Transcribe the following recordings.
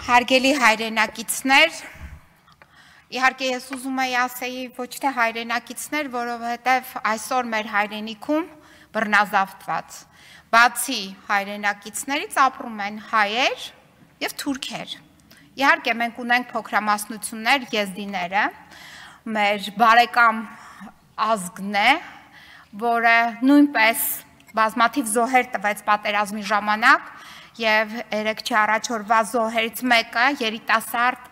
Հարգելի հայրենակիցներ, իհարկե ես ուզում եի ասեի ոչ թե հայրենակիցներ, որովհետև այսօր մեր հայրենիքում բռնազավթված, բացի հայրենակիցներից ապրում են հայեր և թուրքեր։ Իհարկե մենք ունենք փոքրամասնություններ, եզդիները, մեր բարեկամ ազգն է, որը նույնպես բազմաթիվ զոհեր տվեց պատերազմի ժամանակ և երեքչի առաջորվա զոհերից մեկը երիտասարդ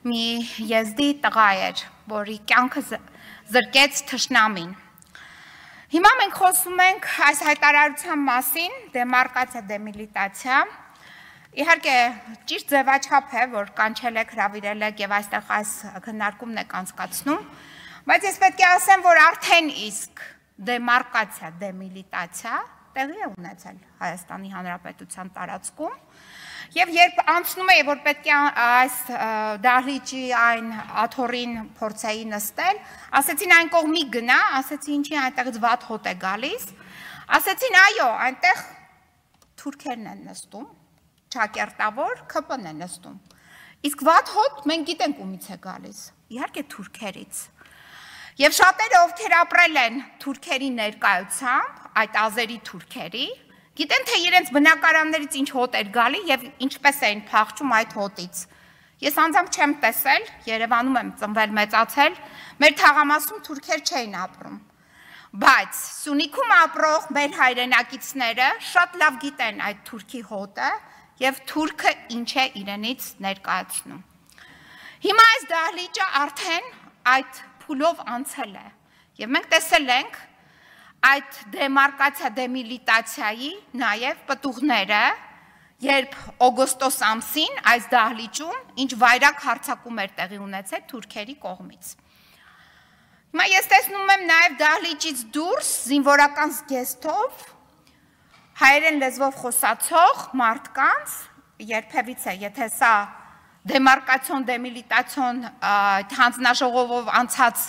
մի եզդի տղա էր, որի կյանքը զրկեց թշնամին։ Հիմա մենք խոսում ենք այս հայտարարության մասին, դեմարկացիա, դեմիլիտացիա։ Իհարկե ճիշտ ձևաչափ է, որ կանչել եք, հրավիրել եք և այստեղ այս քննարկումն եք անցկացնում, բայց ես պետք է ասեմ, որ արդեն իսկ դեմարկացիա, դեմիլիտացիա տեղի է ունեցել Հայաստանի Հանրապետության տարածքում և երբ անցնում է, որ պետք է այս դահլիճի այն աթոռին փորձեի նստել, ասեցին այն կողմի գնա, ասեցին ինչի այնտեղից վատ հոտ է գալիս, ասեցին այո, այնտեղ թուրքերն են նստում, ճակերտավոր ՔՊ-ն է նստում, իսկ վատ հոտ մենք գիտենք ումից է գալիս, իհարկե թուրքերից։ Եվ շատերը, ովքեր ապրել են թուրքերի ներկայությամբ, այդ ազերի թուրքերի, գիտեն, թե իրենց բնակարաններից ինչ հոտ էր գալի և ինչպես էին փախչում այդ հոտից։ Ես անձամբ չեմ տեսել, Երևանում եմ ծնվել մեծացել, մեր թաղամասում թուրքեր չէին ապրում։ Բայց Սյունիքում ապրող մեր հայրենակիցները շատ լավ գիտեն այդ թուրքի հոտը և թուրքը ինչ է իրենից ներկայացնում։ Հիմա այս դահլիճը արդեն այդ փուլով անցել է և մենք տեսել ենք այդ դեմարկացիա, դեմիլիտացիայի նաև պտուղները, երբ օգոստոս ամսին այս դահլիճում ինչ վայրակ հարձակում էր տեղի ունեցել թուրքերի կողմից։ Հիմա ես տեսնում եմ նաև դահլիճից դուրս զինվորական զգեստով հայերեն լեզվով խոսացող մարդկանց, երբևիցե, եթե սա դեմարկացիոն, դեմիլիտացիոն հանձնաժողովով անցած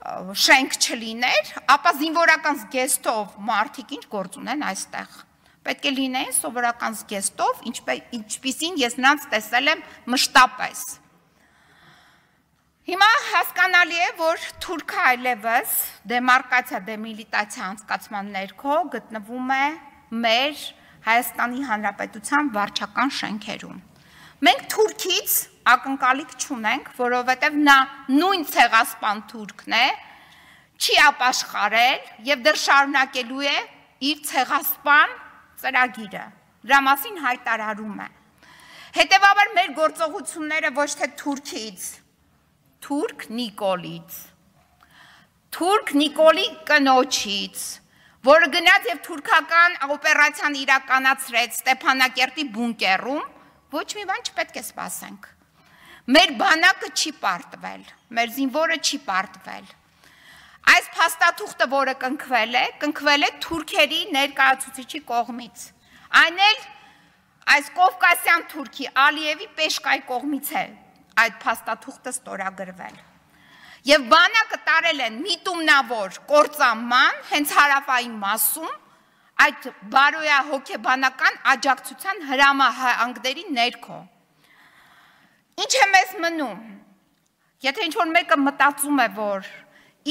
շենք չլիներ, ապա զինվորական զգեստով մարդիկ ինչ գործ ունեն այստեղ։ Պետք է լինեին սովորական զգեստով, ինչպիսին ես նրանց տեսել եմ մշտապես։ Հիմա հասկանալի է, որ թուրքը այլևս դեմարկացիա, դեմիլիտացիա անցկացման ներքո գտնվում է մեր Հայաստանի Հանրապետության վարչական շենքերում։ Մենք թուրքից ակնկալիք չունենք, որովհետև նա նույն ցեղասպան թուրքն է, չի ապաշխարել և դեռ շարունակելու է իր ցեղասպան ծրագիրը, դրա մասին հայտարարում է։ Հետևաբար մեր գործողությունները ոչ թե թուրքից, թուրք Նիկոլից, թուրք Նիկոլի կնոջից, որը գնաց և թուրքական օպերացիան իրականացրեց Ստեփանակերտի բունկերում, ոչ մի բան չպետք է սպասենք։ Մեր բանակը չի պարտվել, մեր զինվորը չի պարտվել։ Այս փաստաթուղթը, որը կնքվել է թուրքերի ներկայացուցիչի կողմից։ Այն էլ այս կովկասյան թուրքի Ալիևի Պեշկայի կողմից է այդ փաստաթուղթը ստորագրվել։ Եվ բանակը տարել են միտումնավոր կործանման հենց հարավային մասում այդ բարոյահոգեբանական աջակցության հրամահանգների ներքո։ Ինչ է մեզ մնում, եթե ինչ-որ մեկը մտածում է, որ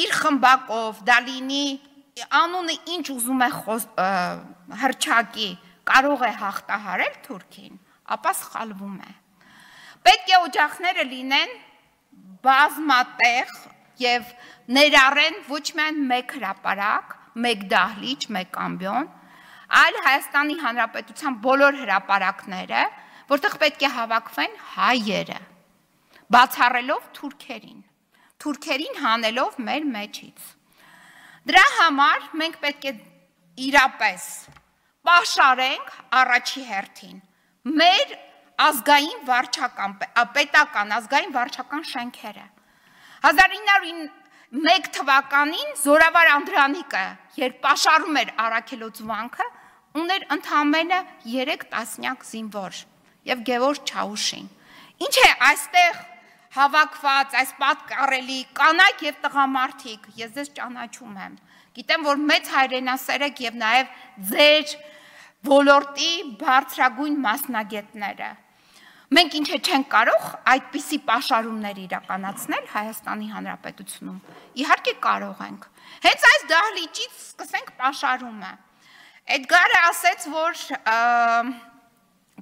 իր խմբակով, դա լինի անունը ինչ ուզում է հռչակի, կարող է հաղթահարել թուրքին, ապա սխալվում է։ Պետք է օջախները լինեն բազմատեղ և ներառեն ոչ միայն մեկ հրապարակ, մեկ դահլիճ, մեկ ամբիոն, այլ Հայաստանի Հանրապետության բոլոր հրապարակները, որտեղ պետք է հավաքվեն հայերը, բացառելով թուրքերին հանելով մեր մեջից։ Դրա համար մենք պետք է իրապես պաշարենք առաջի հերթին մեր ազգային վարչական, պետական ազգային վարչական շենքերը։ 1901 թվականին Զորավար Անդրանիկը, երբ պաշարում էր Առաքելոց վանքը, ուներ ընդամենը 3 տասնյակ զինվոր և Գևորգ Չաուշին։ Ինչ է այստեղ հավաքված, այս պատկառելի կանայք և տղամարդիկ, ես ձեզ ճանաչում եմ, գիտեմ, որ մեծ հայրենասեր եք և նաև ձեր ոլորտի բարձրագույն մասնագետները, Մենք ինչ է չենք կարող այդպիսի պաշարումներ իրականացնել Հայաստանի Հանրապետությունում։ Իհարկե կարող ենք։ Հենց այս դահլիճից սկսենք պաշարումը։ Էդգարը ասեց, որ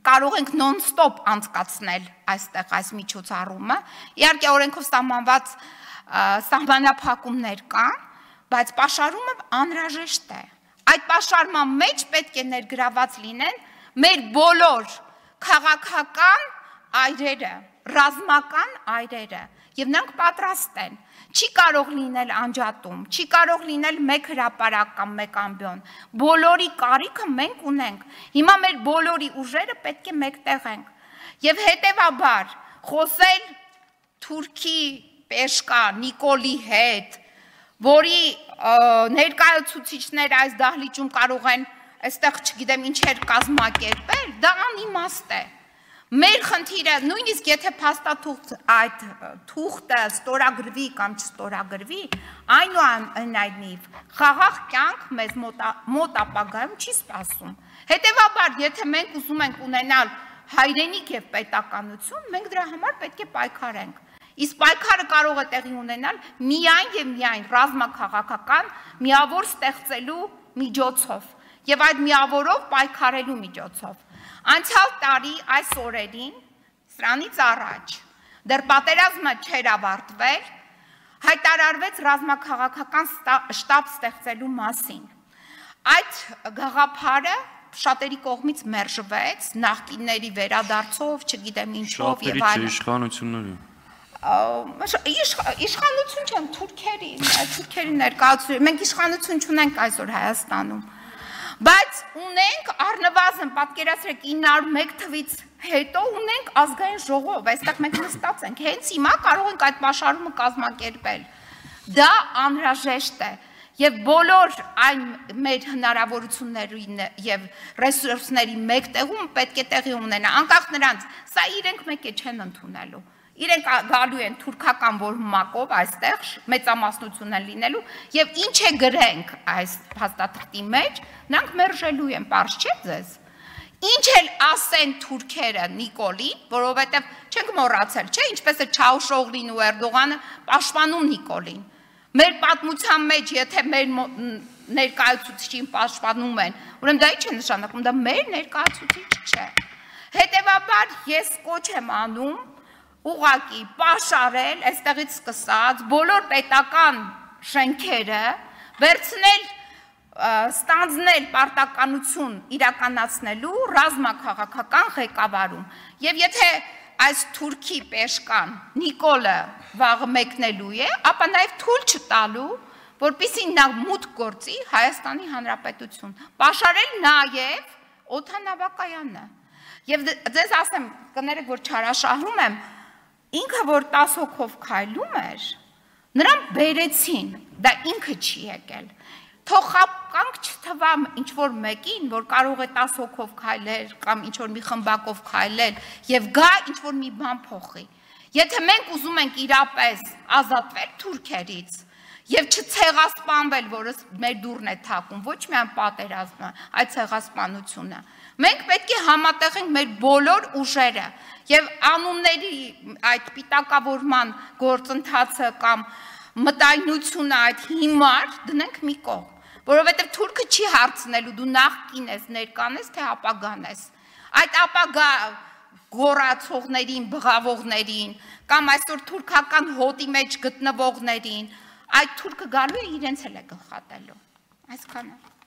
կարող ենք նոն-ստոպ անցկացնել այստեղ այս միջոցառումը։ Իհարկե օրենքով սահմանված սահմանափակումներ կան, բայց պաշարումը անհրաժեշտ է։ Այդ պաշարման մեջ պետք է ներգրաված լինեն մեր բոլոր քաղաքական այրերը, ռազմական այրերը, եւ նրանք պատրաստ են։ Չի կարող լինել անջատում, չի կարող լինել մեկ հրապարակ կամ մեկ ամբիոն։ Բոլորի կարիքը մենք ունենք։ Հիմա մեր բոլորի ուժերը պետք է մեկտեղենք։ Եվ հետեւաբար խոսել Թուրքի Պեշկա Նիկոլի հետ, որի ներկայացուցիչներ այս դահլիճում կարող են այստեղ չգիտեմ ինչեր կազմակերպել, դա անիմաստ է։ Մեր խնդիրը նույնիսկ եթե փաստաթուղթ այդ թուղթը ստորագրվի կամ չստորագրվի, այնուամենայնիվ խաղաղ կյանք մեզ մոտ ապագայում չի սպասում։ Հետևաբար, եթե մենք ուզում ենք ունենալ հայրենիք եւ պետականություն, մենք դրա համար պետք է պայքարենք։ Իսկ պայքարը կարող է տեղի ունենալ միայն եւ միայն ռազմաքաղաքական միավոր ստեղծելու միջոցով եւ այդ միավորով պայքարելու միջոցով։ Անցյալ տարի այս օրերին, սրանից առաջ, դեռ պատերազմը չէր ավարտվել, հայտարարվեց ռազմաքաղաքական շտաբ ստեղծելու մասին։ Այդ գաղափարը շատերի կողմից մերժվեց, նախկինների վերադարձով, չգիտեմ ինչով եւ այլն։ Իշխանությունների։ Իշխանություն չեն թուրքերի ներկայացուցիչ։ Մենք իշխանություն չունենք այսօր Հայաստանում։ Բայց ունենք առնվազն պատկերացրեք 901 թվից հետո ունենք ազգային ժողով, այստեղ մենք նստած ենք, հենց հիմա կարող ենք այդ պաշարումը կազմակերպել։ Դա անհրաժեշտ է եւ բոլոր այն մեր հնարավորությունների եւ ռեսուրսների մեկտեղում պետք է տեղի ունենա, անկախ նրանց, սա իրենք մեկ է չեն ընդունելու։ Իրենք գալու են թուրքական որմակով այստեղ մեծամասնություն են լինելու եւ ինչ է գրենք այս փաստաթղթի մեջ, նրանք մերժելու են, պարզ չէ ձեզ։ Ինչ էլ ասեն թուրքերը Նիկոլին, որովհետեւ չենք մոռացել, չէ, ինչպես է Չաուշօղլին ու Էրդողանը պաշտպանում Նիկոլին։ Մեր պատմության մեջ, եթե մեր ներկայացուցիչին պաշտպանում են, ուրեմն դա ինչ է նշանակում, դա մեր ներկայացուցիչ չէ։ Հետևաբար ես կոչ եմ անում ուղղակի պաշարել, այստեղից սկսած, բոլոր պետական շենքերը, վերցնել, ստանձնել պարտականություն իրականացնելու ռազմաքաղաքական ղեկավարում։ Եվ եթե այս Թուրքի Պեշկան Նիկոլը վաղը մեկնելու է, ապա նաև թույլ չտալու, որպեսզի նա մուտք գործի Հայաստանի Հանրապետություն, պաշարել նաև օդանավակայանը։ Եվ ձեզ ասեմ, կներեք, որ չարաշահում եմ, ինքը որ 10 հոգով քայլում էր, նրան բերեցին, դա ինքը չի եկել։ Թող խապկանք չթվա ինչ-որ մեկին, որ կարող է 10 հոգով քայլել կամ ինչ-որ մի խմբակով քայլել եւ գա ինչ-որ մի բան փոխի։ Եթե մենք ուզում ենք իրապես ազատվել թուրքերից եւ չցեղասպանվել, որը մեր դուրն է թակում, ոչ միայն պատերազմը, այլ ցեղասպանությունը, մենք պետք է համատեղենք մեր բոլոր ուժերը եւ անունների այդ պիտակավորման գործընթացը կամ մտայնությունը այդ հիմար դնենք մի կողմ, որովհետեւ թուրքը չի հարցնելու դու նախկին ես, ներկան ես, թե ապագան ես։ Այդ ապագա գոռացողներին, բղավողներին կամ այսօր թուրքական հոտի մեջ գտնվողներին այդ թուրքը գալու է իրենց էլ է գլխատելու։ Այսքանը։